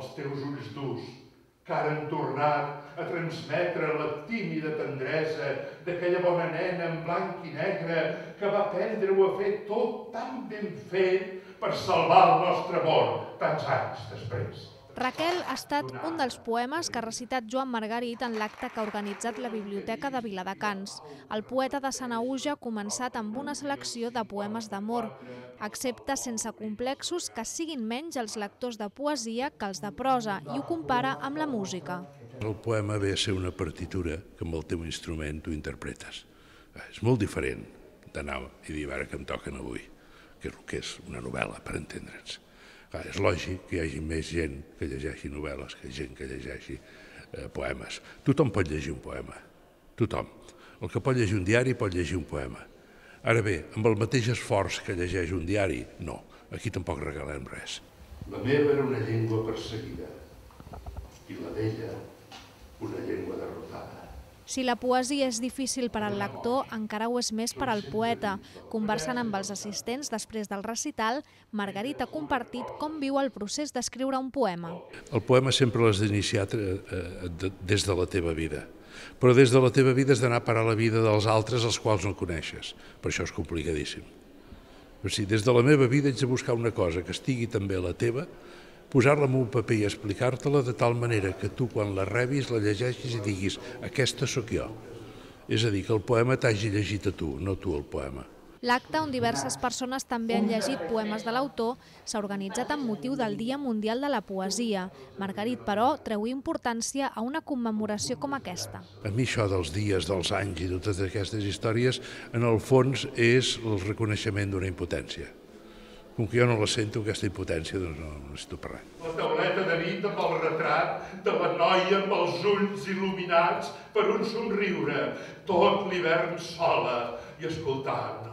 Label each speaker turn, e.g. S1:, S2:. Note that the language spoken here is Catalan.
S1: els teus ulls durs, que ara han tornat a transmetre la tímida tendresa d'aquella bona nena en blanc i negre que va aprendre-ho a fer tot tan ben fet per salvar el nostre amor tants anys després.
S2: Raquel ha estat un dels poemes que ha recitat Joan Margarit en l'acte que ha organitzat la Biblioteca de Viladecans. El poeta de Sanaüja ha començat amb una selecció de poemes d'amor. Accepta sense complexos que siguin menys els lectors de poesia que els de prosa i ho compara amb la música.
S3: El poema ve a ser una partitura que amb el teu instrument tu interpretes. És molt diferent d'anar i dir ara que em toquen avui, que és el que és una novel·la, per entendre'ns. És lògic que hi hagi més gent que llegeixi novel·les que gent que llegeixi poemes. Tothom pot llegir un poema, tothom. El que pot llegir un diari pot llegir un poema. Ara bé, amb el mateix esforç que llegeix un diari, no. Aquí tampoc regalem res.
S1: La meva era una llengua perseguida i la d'ella una llengua derrotada.
S2: Si la poesia és difícil per al lector, encara ho és més per al poeta. Conversant amb els assistents després del recital, Margarit ha compartit com viu el procés d'escriure un poema.
S3: El poema sempre l'has d'iniciar des de la teva vida, però des de la teva vida has d'anar a parar la vida dels altres als quals no coneixes. Per això és complicadíssim. O sigui, des de la meva vida haig de buscar una cosa que estigui també a la teva, posar-la en un paper i explicar-te-la de tal manera que tu, quan la rebis, la llegeixis i diguis aquesta sóc jo. És a dir, que el poema t'hagi llegit a tu, no tu el poema.
S2: L'acte, on diverses persones també han llegit poemes de l'autor, s'ha organitzat amb motiu del Dia Mundial de la Poesia. Margarit, però, treu importància a una commemoració com aquesta.
S3: A mi això dels dies, dels anys i totes aquestes històries, en el fons és el reconeixement d'una impotència. Com que jo no la sento, aquesta impotència, doncs no necessito per res.
S1: La tauleta de nit amb el retrat de la noia amb els ulls il·luminats per un somriure, tot l'hivern sola i escoltant